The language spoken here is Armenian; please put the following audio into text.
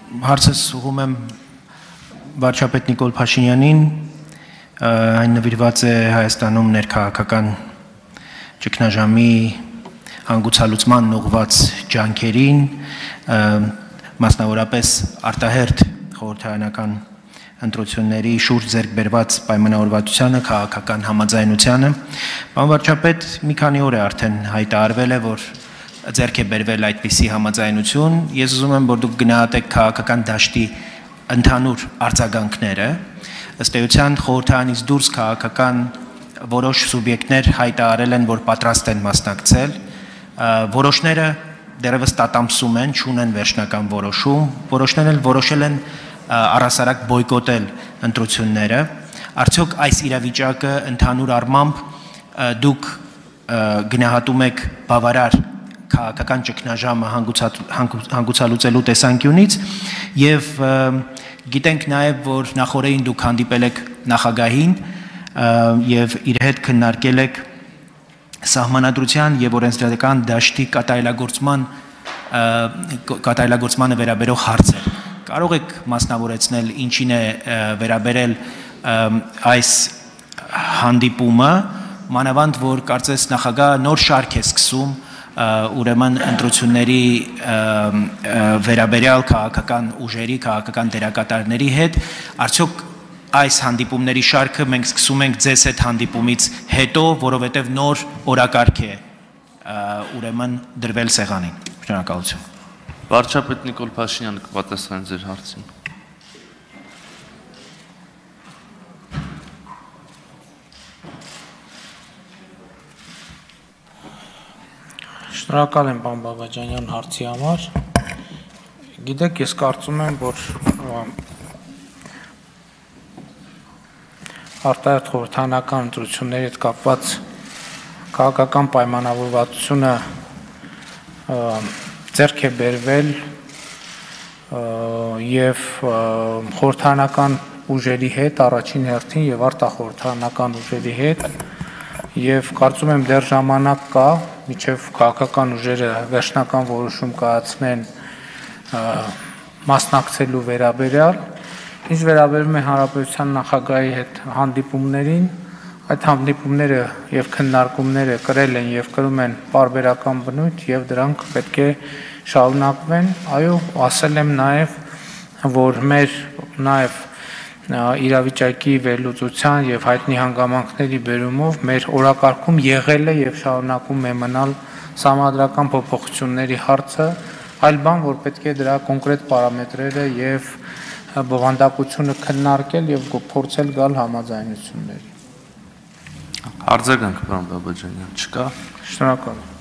Հարցս ուղղում եմ վարչապետ Նիկոլ Փաշինյանին, այն նվիրված է Հայաստանում ներքաղաքական ճգնաժամի հանգուցալուծման ուղղված ջանքերին, մասնավորապես արտահերթ խորհրդարանական ընտրությունների շուրջ ձեռք բերված պայմանավորվածությանը, քաղաքական համաձայնությանը։ Պարոն վարչապետ, մի քանի օր է արդեն հայտարարվել է, որ ձեռք է բերվել այդպիսի համաձայնություն։ Ես ուզում եմ, որ դուք գնահատեք քաղաքական դաշտի ընդհանուր արձագանքները։ Ըստ էության խորհրդարանից դուրս քաղաքական որոշ սուբյեկտներ հայտարարել են, որ պատրաստ են մասնակցել, որոշները դեռևս տատամսում են, չունեն վերջնական որոշում, որոշներն էլ որոշել են առհասարակ բոյկոտել ընտրությունները։ Արդյոք այս իրավիճակը ընդհանուր առմամբ դուք գնահատում եք բավարար քաղաքական ճգնաժամը հանգուցալուծելու տեսանկյունից եւ գիտենք նաեւ, որ նախորդին դուք հանդիպել եք նախագահին եւ իր հետ քննարկել եք սահմանադրության եւ օրենսդրական դաշտի կատարելագործմանը վերաբերող հարցեր։ Կարող եք մասնավորեցնել ինչին է վերաբերել այս հանդիպումը, մանավանդ որ կարծես նախագահը նոր շարք է սկսում ուրեմն ընտրությունների վերաբերյալ քաղաքական ուժերի, քաղաքական դերակատարների հետ, արդյոք այս հանդիպումների շարքը մենք սկսում ենք ձեզ այդ հանդիպումից հետո, որովհետև նոր օրակարգ է ուրեմն դրվել սեղանին։ Շնորհակալություն։ Վարչապետ Նիկոլ Փաշինյանը կպատասխանի ձեր հարցին։ Շնորհակալ եմ պարոն Բաբաջանյան հարցի համար։ Գիտեք, ես կարծում եմ, որ արտահերթ խորհրդարանական ընտրությունների հետ կապված քաղաքական պայմանավորվածությունը ձեռք է բերվել եւ խորհրդարանական ուժերի հետ, առաջին հերթին եւ արտախորհրդարանական ուժերի հետ եւ կարծում եմ դեռ ժամանակ կա, մինչեւ քաղաքական ուժերը վերջնական որոշում կայացնեն մասնակցելու վերաբերյալ։ Ինչ վերաբերում է հանրապետության նախագահի հետ հանդիպումներին, այդ հանդիպումները եւ քննարկումները կրել են եւ կրում են պարբերական բնույթ եւ դրանք պետք է շարունակվեն։ Այո, ասել եմ նաեւ, որ մեր նաեւ իրավիճակի վերլուծության եւ հայտնի հանգամանքների բերումով մեր օրակարգում եղել է եւ շարունակում է մնալ սահմանադրական փոփոխությունների հարցը, այլ բան, որ պետք է դրա կոնկրետ պարամետրերը եւ բովանդակությունը քննարկել եւ փորձել գալ համաձայնությունների։ Արձագանք, պարոն Բաբաջանյան, չկա։ Շնորհակալ եմ։